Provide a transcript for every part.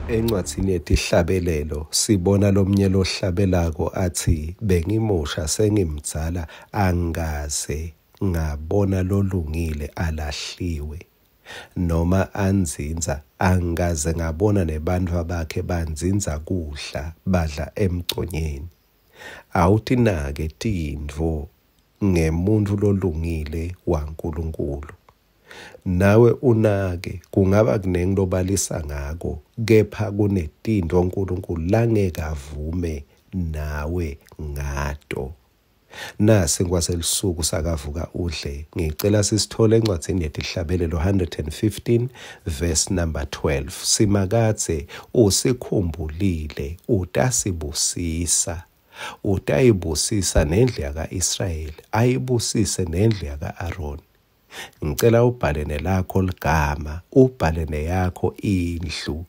Encwadzini yeTihlabelelo sibona lomnye lohlabelako atsi, bengimusha sengimdzala angikaze ngabona lolungile alahliwe noma andzindza, angikaze ngabona nebantfwa bakhe bandzindza kudla badla emgconyeni. Awutinake tintfo ngemuntfu lolungile waNkulunkulu. Nawe unake, kungaba kunengi lobalisa ngako, kepha kunetintfo uNkulunkulu langeke avume nawe ngato. Nasi kwaselisuku sakavuka udle. Ngicela sisithole encwadzini yeTihlabelelo 115 verse number 12. Simakadze usikhumbulile, utasibusisa. Utayibusisa nendlu yaka-Israyeli, ayibusise nendlu yaka-Aroni. Ngicela ubhale nelakho ligama, ubhale neyakho indlu.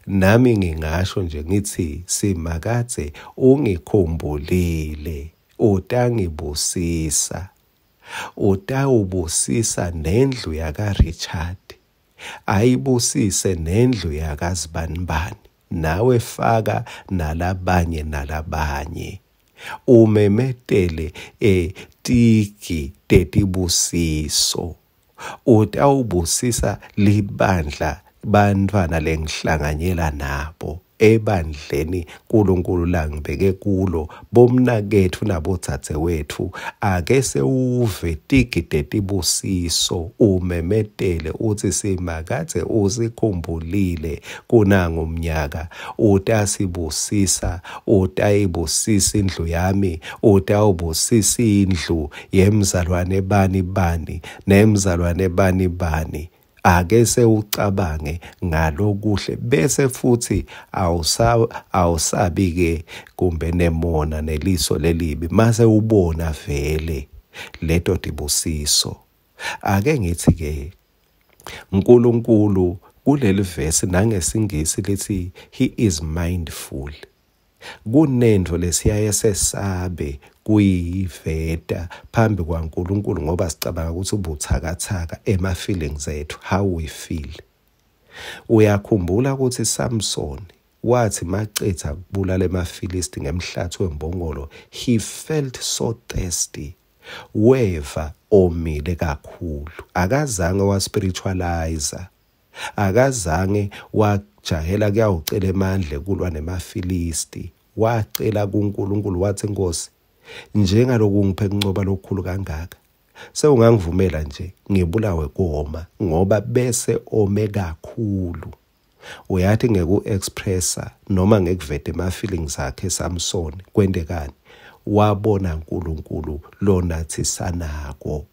Nami ngingasho nje ngithi Simakadze ungikhumbulile, utangibusisa. Utawubusisa nendlu yaka-Richard, ayibusise nendlu yakaZibanibani. Nawe faka nalabanye nalabanye. Umemetele tigi tetibusiso. Utawubusisa libandla bantfwana lengihlanganyela nabo ebandleni uNkulunkulu langibeke kulo, bomnaketfu nabodzadzewetfu. Ake sewuve tigi tetibusiso, umemetele utsi Simakadze usikhumbulile kunangu umnyaka, utasibusisa, utayibusisa indlu yami, utawubusisa indlu yemzalwane bani bani nemzalwane bani bani. Ake sewucabange ngalokuhle, bese futhi awusabi ke kumbe nemona neliso lelibi mase ubona vele leto tibusiso. Ake ngithi ke uNkulunkulu kuleli verse nangesingisi lithi he is mindful. Kunento lesiyaye sesabe kuyiveta phambi kwaNkulunkulu ngoba sicabanga ukuthi ubuthakathaka ema feelings ethu, how we feel. Uyakhumbula ukuthi Samson wathi macetha kubulala emaFilisti ngemhlathi wembongolo, he felt so thirsty, weva omile kakhulu. Akazange wa spiritualize, akazange wajahela kuyawucela emandla kulwa nemaFilisti. Wacela kuNkulunkulu wathi, Nkosi, njengaloku ngiphe kuncoba lokukhulu kangaka, sewungangivumela nje ngibulawe koma, ngoba bese ome kakhulu. Uyathi ngeku-expressa noma ngekuveta ema-feelings akhe Samson, kwentekani? Wabona uNkulunkulu lonathisanako.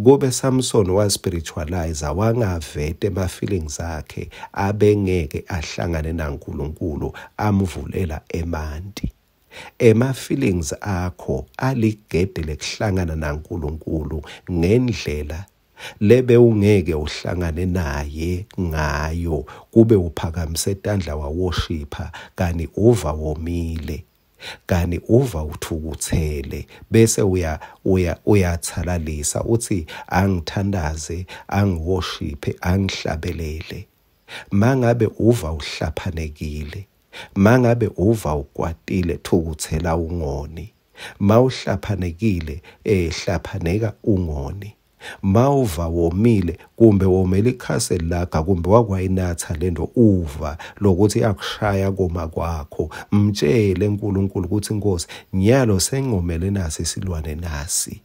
Kube Samson wa-spiritualize, wangaveta ema-feelings akhe, abengeke ahlangane naNkulunkulu amvulela emanti. Ema-feelings akho aligede lekuhlangana naNkulunkulu ngendlela lebe ungeke uhlangane naye ngayo kube uphakamise tandla waworshipha kani uva womile, kani uva uthukuthele, bese uyathalalisa uthi angithandaze, angiworshiphe, angihlabelele. Mangabe uva uhlaphanekile, mangabe uva ukwatile, thukuthela ungoni. Mawuhlaphanekile, hlaphaneka ungoni. Mawuva womile, kumbe womele ikhaseli lakho, kumbe wakwayinatha lento uva lokuthi iyakushaya koma kwakho, mtshele uNkulunkulu ukuthi Nkosi, nyalo sengomele nasi isilwane nasi.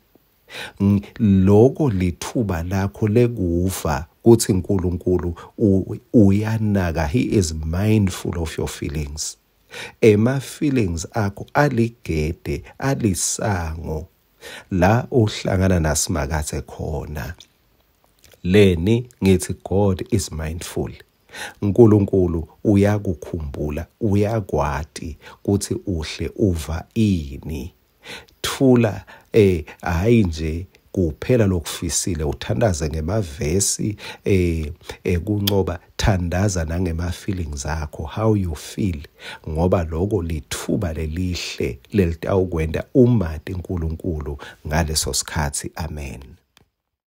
Loko lithuba lakho lekuva kuthi uNkulunkulu uyanaka, he is mindful of your feelings. Ema feelings akho aligede, alisango la uhlangana naSimakadze khona. Leni ngithi God is mindful. uNkulunkulu uyakukhumbula, uyakwati kuthi uhle uva ini. Thula hayi nje kuphela lokufisile, uthandaze ngemavesi ekuncoba, thandaza nangema feelings akho, how you feel, ngoba lokho lithuba lelihle lelitawukwenta umati uNkulunkulu ngaleso sikhathi. Amen.